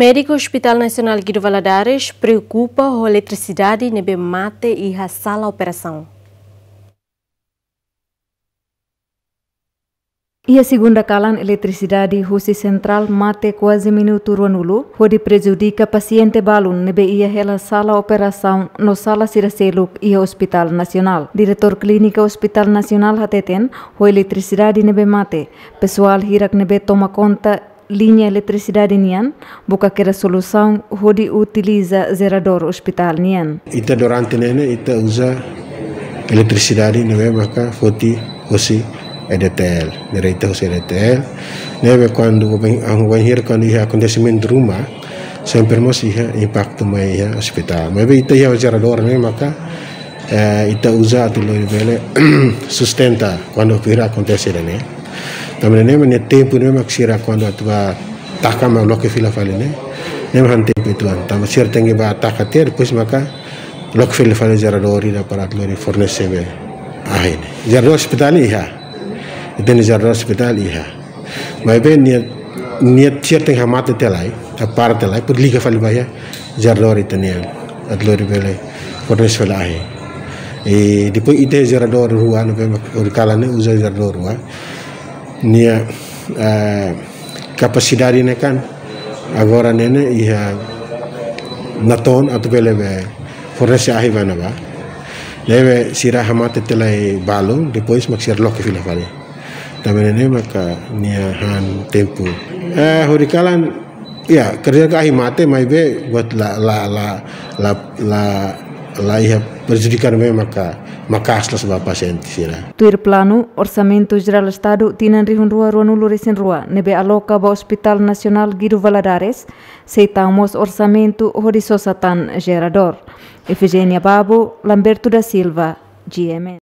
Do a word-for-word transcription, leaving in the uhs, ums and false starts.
Médiku Hospital Nasionál Guido Valadares preokupa ho eletrisidade ne'ebé mate iha sala operasaun. Iha segunda kalan, eletrisidade husi sentrál mate kuaze minutu ruanulu, hodi prejudika pasiente balun ne'ebé iha hela sala operasaun no sala sira seluk iha Hospital Nasionál. Diretór Klínika Hospital Nasionál hateten, ho eletrisidade ne'ebé mate, pesoál hirak ne'ebé toma konta liña eletrisidade nian, buka kera solusaun hodi utiliza jeradór ospitál nian. Ita durante ne'e ne'e, ita uza eletrisidade ne'ebé maka foti hosi E D T L, ne'e ita hosi E D T L. Ne'ebé kuandu bain, ah, bainhira kuandu iha akontesimentu ruma, sempre mós iha impaktu mai iha ospitál. Maibé ita iha jeradór ne'e maka, eh, ita uza atu lori bele sustenta kuandu pira akontese ne'e. Tanba ne'e mak nia tempu ne'e mak sira kuandu atu bá taka mak loke fila fali ne'e. Ne'e mak han tempu uitoan. Tanba sira tenke bá taka tiha, depois maka loke fila fali jeradór ida para atu lori fornese be ahi ne'e. Jeradór ospitál iha. Ita-nia jeradór ospitál iha. Maibé nia, nia sira tenke hamate tiha lai, para tiha lai, depois liga fali ba iha jeradór ita-nian, atu lori bele fornese fali ahi. I depois ita jeradór rua, ne'ebé mak horikalan ne'e uza jeradór rua. Nia, eh, kapasidade ne'e kan agora ne'e ne'e iha natoon atu bele be fornese ahi ba ne'ebá. Ne'ebé sira hamate tiha lai balun, depois mak sira loke fila fali. Tanba ne'e ne'e maka nia han tempu. Eh, horikalan, ya, kerja ka ahi mate, maibé buat la, la, la, la, la, la iha prejudika ne'ebé maka, maka aslas ba pasiente sira. Tuir planu, Orsamentu Jerál Estadu tinan rihun rua ruanulu resin rua, ne'ebé aloka ba Hospital Nasionál Guido Valadares, sei tau mós orsamentu hodi sosa tan jeradór. Efigénia Babo, Lamberto da Silva, G M N.